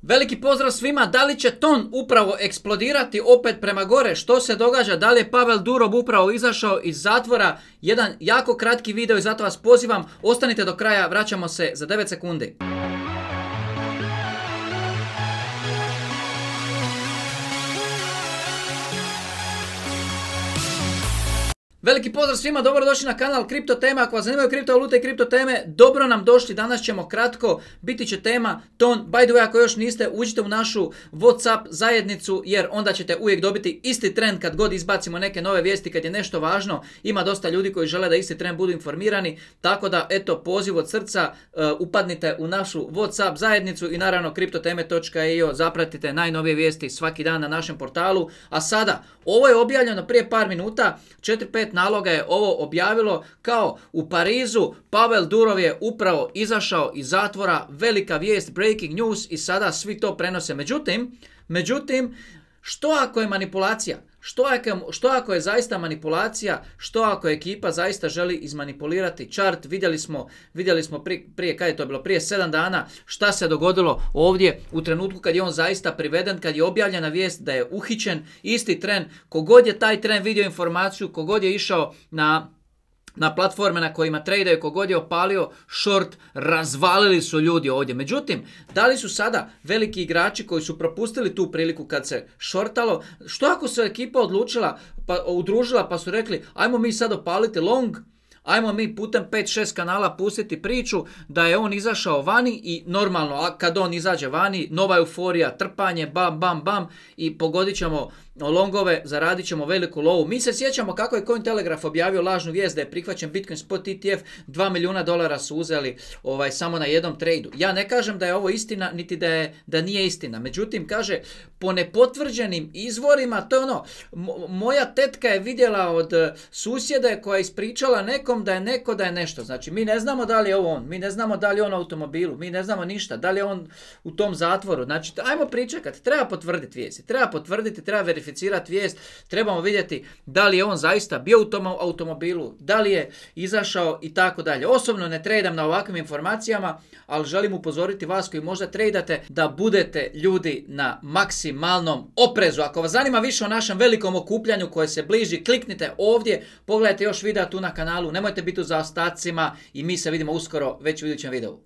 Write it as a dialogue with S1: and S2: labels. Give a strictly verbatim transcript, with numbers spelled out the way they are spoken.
S1: Veliki pozdrav svima, da li će ton upravo eksplodirati opet prema gore? Što se događa? Da li je Pavel Durov upravo izašao iz zatvora? Jedan jako kratki video i zato vas pozivam, ostanite do kraja, vraćamo se za devet sekundi. Veliki pozdrav svima, dobrodošli na kanal Kripto Tema. Ako vas zanimaju kriptovalute i kripto teme, dobro nam došli. Danas ćemo kratko, biti će tema ton. By the way, ako još niste, uđite u našu WhatsApp zajednicu jer onda ćete uvijek dobiti isti trend kad god izbacimo neke nove vijesti, kad je nešto važno. Ima dosta ljudi koji žele da isti trend budu informirani, tako da eto, poziv od srca, uh, upadnite u našu WhatsApp zajednicu i naravno kriptoteme točka i o, zapratite najnovije vijesti svaki dan na našem portalu. A sada, ovo je objavljeno prije par minuta, četiri pet naloga je ovo objavilo kao u Parizu Pavel Durov je upravo izašao iz zatvora, velika vijest, breaking news i sada svi to prenose. Međutim, međutim, što ako je manipulacija? Što ako, što ako je zaista manipulacija? Što ako ekipa zaista želi izmanipulirati chart? Vidjeli smo, vidjeli smo prije, prije, kad je to bilo? Prije sedam dana šta se dogodilo ovdje u trenutku kad je on zaista priveden, kad je objavljena vijest da je uhićen, isti tren. Kogod je taj tren vidio informaciju, kogod je išao na na platforme na kojima tradaju, kogod je opalio short, razvalili su ljudi ovdje. Međutim, da li su sada veliki igrači koji su propustili tu priliku kad se shortalo, što ako se ekipa odlučila, pa udružila pa su rekli ajmo mi sad opaliti long, ajmo mi putem pet šest kanala pustiti priču da je on izašao vani i normalno, a kad on izađe vani, nova euforija, trpanje, bam, bam, bam i pogodit ćemo longove, zaradit ćemo veliku lovu. Mi se sjećamo kako je Cointelegraph objavio lažnu vijest da je prihvaćen Bitcoin Spot E T F, dva milijuna dolara su uzeli ovaj, samo na jednom tradu. Ja ne kažem da je ovo istina, niti da, je, da nije istina. Međutim, kaže, po nepotvrđenim izvorima, to je ono, moja tetka je vidjela od susjede koja je ispričala nekom da je neko da je nešto. Znači, mi ne znamo da li je ovo on, mi ne znamo da li je on u automobilu, mi ne znamo ništa, da li je on u tom zatvoru. Znači, ajmo pričekati, treba potvrditi vijesti, treba potvrditi, treba verificirati vijest, trebamo vidjeti da li je on zaista bio u tom automobilu, da li je izašao i tako dalje. Osobno ne tradam na ovakvim informacijama, ali želim upozoriti vas koji možda tradate da budete ljudi na maksimalnom oprezu. Ako vas zanima više o našem velikom okupljanju koje se bliži, kliknite ovdje, pogledajte još videa tu na kanalu, nemojte biti u zaostacima i mi se vidimo uskoro već u idućem videu.